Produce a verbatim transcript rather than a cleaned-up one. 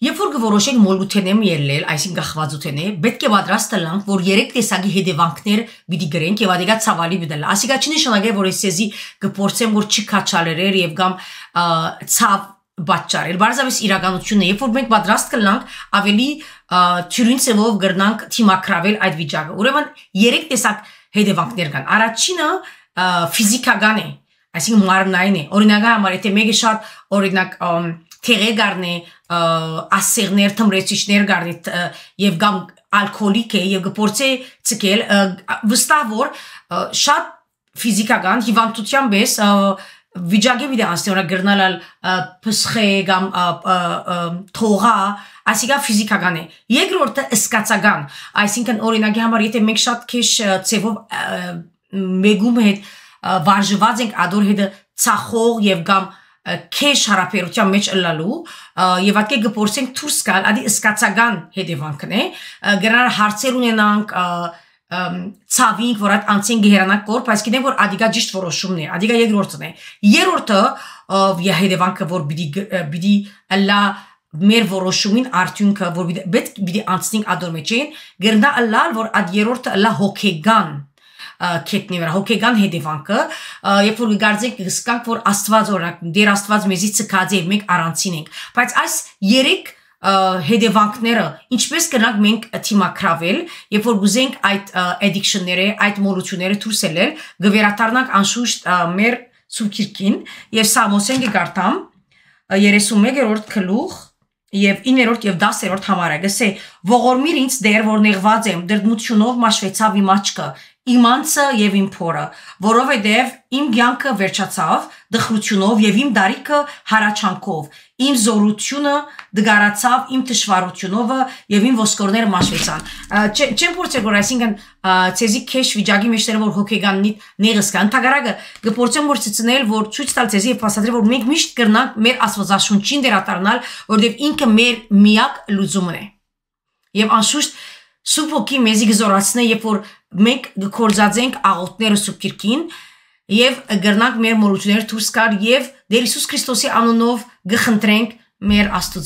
Երբ որ որոշենք մոլութենեմ ելնել, այսինքն գախվածութենե, պետք է պատրաստ լինենք, որ երեք տեսակի հետևանքներ պիտի գրենք եւ ադիգա ցավալի բդալ։ Ասիկա չի նշանակե, որ էսեզի կփորձեմ որ չի քաչալերեր եւ կամ ցավ բաճարել։ Բարձավես իրականությունն է, երբ որ մենք պատրաստ կլինենք, ավելի թյուրին ծավով գրնանք թիմակրավել այդ վիճակը։ Ուրեմն երեք տեսակ հետևանքներ կան։ Առաջինը ֆիզիկական է, այսինքն մարմնային է։ Օրինակ համար եթե մեկը շատ օրինակ թեղեր գարնի, ասերներ, թմրեցիչներ գարնի եւ կամ ալկոհոլիկ է եւ գործե ցկել վստահ որ շատ ֆիզիկական հիվանդության պես վիճակի վիդե անստեորա գրնալալ փսխե կամ թողա ասիկա ֆիզիկական է երկրորդը սկացական այսինքն օրինակի համար եթե մենք շատ քիչ ծևով մեգում հետ վարժված ենք ադոր հետ ցախող եւ կամ քեշ հարաբերության մեջ ըլլալու եւ ատկե գործենք դուրս գալ ադի սկացական հետևանքն է գրանալ հարցեր ունենանք ցավինք որ այդ անցին գերանակ կոր բայց գիտենք որ ադիգա ճիշտ որոշումն է ադիգա երկրորդն է երրորդը հետևանքը որ պիտի պիտի ըլլա մեր որոշումին արդյունքը որ պետք պիտի անցնենք ադոր մեջ են գրանա ըլլալ որ այդ երրորդը ըլլա հոգեգան քետնի վրա հոգեգան հետևանքը երբ որ գարձենք գսկանք որ աստված օրինակ դեր աստված մեզի ցկած է մենք առանցին ենք բայց այս երեք հետևանքները ինչպես կնանք մենք թիմակրավել երբ որ գուզենք այդ addiction-ները այդ մոլությունները դուրս ելել գվերադառնանք անշուշտ մեր սուքիրքին եւ Սամոսեն գարտամ երեսունմեկերորդ գլուխ եւ իններորդ եւ դասերորդ համարը գսե ողորմիր ինձ դեր որ նեղված եմ դրդմությունով մաշվեցավ իմ աչքը իմ անձը եւ իմ փորը որովհետեւ իմ կյանքը վերջացավ դխրությունով եւ իմ դարիքը հարաճանքով իմ զորությունը դգարացավ իմ թշվառությունով եւ իմ ոսկորները մաշվեցան չեմ փորձել որ այսինքն ցեզի քեշ վիճակի մեջտեղ որ հոգեգաննի նեղս կան տագարակը գործեմ որ ցցնել որ ցույց տալ ցեզի եւ փաստադրել որ մենք միշտ կրնանք մեր աստվածաշունչին դերատարնալ որովհետեւ ինքը մեր միակ լուծումն է եւ անշուշտ Սուպոքի մեզի գզորացնե երբ որ մենք գործածենք աղոթները սուպկիրքին եւ գրնանք մեր մոլությունները դուրս գալ եւ Տեր Հիսուս Քրիստոսի անունով գխնդրենք մեր Աստծո